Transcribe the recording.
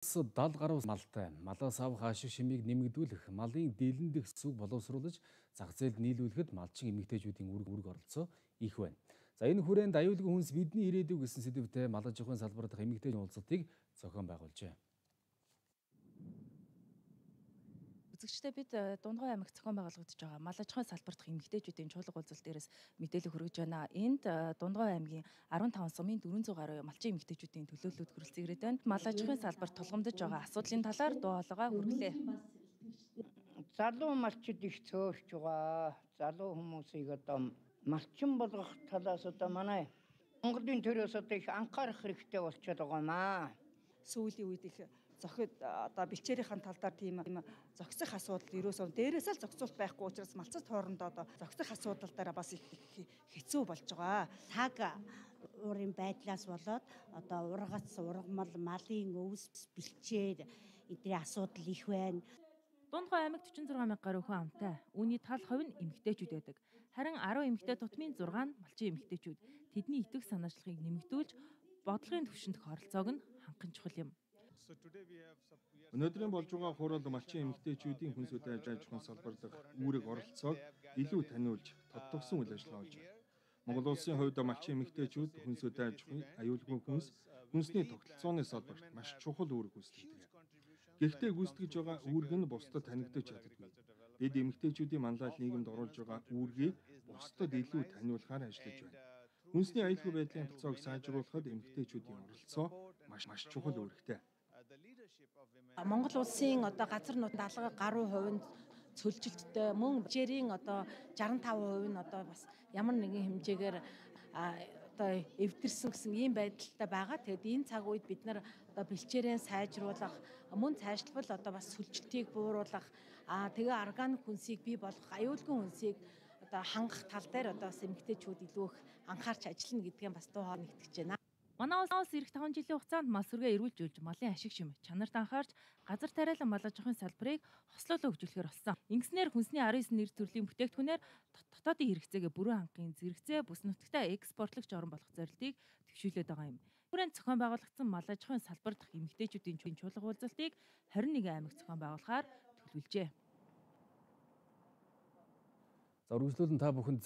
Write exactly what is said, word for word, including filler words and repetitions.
даал гаруй малтай малаас авах ашиг шимийг нэмэгдүүлэх, малын дэлэн дэх сүг боловсруулж зах зээлд нийлүүлэхэд малчин эмэгтэйчүүдийн үүрэг үүрэг оролцоо их байна. За энэ хүрээнд аюулгүй хүнс бидний ирээдүй гэсэн сэдвтэй мал аж ахуйн салбар дахь эмэгтэйчүүдийн уулзалтыг зохион байгуулжээ. Үзэгчдээ бид Дундгой аймагт зохион байгуулагдаж байгаа мал аж ахуйн салбар дахь эмэгтэйчүүдийн чуулга уулзалт дээрээс мэдээлэл хүргэж байна. Энд Дундгой аймгийн арван таван сумын дөрвөн зуун гаруй малчин эмэгтэйчүүдийн төлөөллүүд хүрэлцэн ирээд байна. Мал аж ахуйн салбарт тулгамдж байгаа асуудлын талаар дуу хоолойгоо хүргэлээ. Залуу малчид их цөөрч байгаа. Залуу хүмүүсийг одоо малчин болгох талаас одоо манай Монголын төрөөс одоо их анхаарах хэрэгтэй болчиход байгаа маа. Сүүлийн үед их зохид одоо бэлчээрийн талдаар тийм зохисох асуудал ерөөсөө дээрээс л зохицуулт байхгүй учраас малцад хоорондоо одоо зохисох асуудал дээр бас их хэцүү болж байгаа. Цаг уурын байдлаас болоод одоо ургац, ургамал, малын өвс, бэлчээр эдгээр асуудал их байна. Дундгой аймагт чорт и зургаан мянга гаруй хүн амтай. Үүний тал хувь нь эмэгтэйчүүд байдаг. Харин арван эмэгтэй тутмын зургаан нь малчин эмэгтэйчүүд. Тэдний итгэх санаачлалыг нэмэгдүүлж бодлогын түвшинд оролцоог нь ханган чухал юм. Өнөөдрийн болж байгаа хурал малчин эмэгтэйчүүдийн хүнс үдэ аж ахуйн салбар дахь үүрэг оролцоог илүү таниулж тодтогсон үйл ажиллагаа болж байна. Монгол улсын хувьд малчин эмэгтэйчүүд хүнс үдэ аж ахуйн, аюулгүй хүнс, хүнсний тогтолцооны салбарт маш чухал үүрэг гүйцэтгэдэг. Гэхдээ гүйцэтгэж байгаа үүрэг нь бусдад танигдаж чаддаггүй. Бид эмэгтэйчүүдийн манлайлал нийгэмд оруулж байгаа үүргийг бусдад илүү таниулахаар ажиллаж байна. Хүнсний аюулгүй байдлын толцоог сайжруулахад эмэгтэйчүүдийн оролцоо маш маш чухал үүрэгтэй. Монгол улсын одоо газар нутгийн алга гаруй хувинд цөлжилттэй мөн бэлчээрийн одоо шестдесят таван хувь нь одоо бас ямар нэгэн хэмжээгээр одоо эвдэрсэн гэсэн ийм байдалтай байгаа. Тэгэд энэ цаг үед бид нар одоо бэлчээрээ сайжруулах, мөн цаашлбал одоо бас сүлжилтийг бууруулах, аа тэгээ органик хүнсийг бий болгох, аюулгүй хүнсийг одоо хангах тал дээр одоо бас эмэгтэйчүүд илүү их анхаарч ажиллана гэдгийг бас дуу хоолой нэгтгэж байна. Манай улс эх таван жилийн хугацаанд мал сүргээ эрүүлжүүлж, малын ашиг шим, чанарт анхаарч, газар тариалан мал аж ахуйн салбарыг хослоолоо хөгжүүлэхээр болсон. Ингэснээр хүнсний арван девять нэр төрлийн бүтээгдэхүүнээр дотоодын хэрэгцээгээ бүрэн хангахын зэрэгцээ бүс нутагтаа экспортлогч орн болох зорилтыг төвшүүлээд байгаа юм. Хүрээнд зохион байгуулагдсан мал аж ахуйн салбар дахь эмэгтэйчүүдийн чуулга уулзалтыг хорин нэгэн аймагт зохион байгуулахаар төлөвлөжээ. За үргэлжлүүлэн та бүхэнд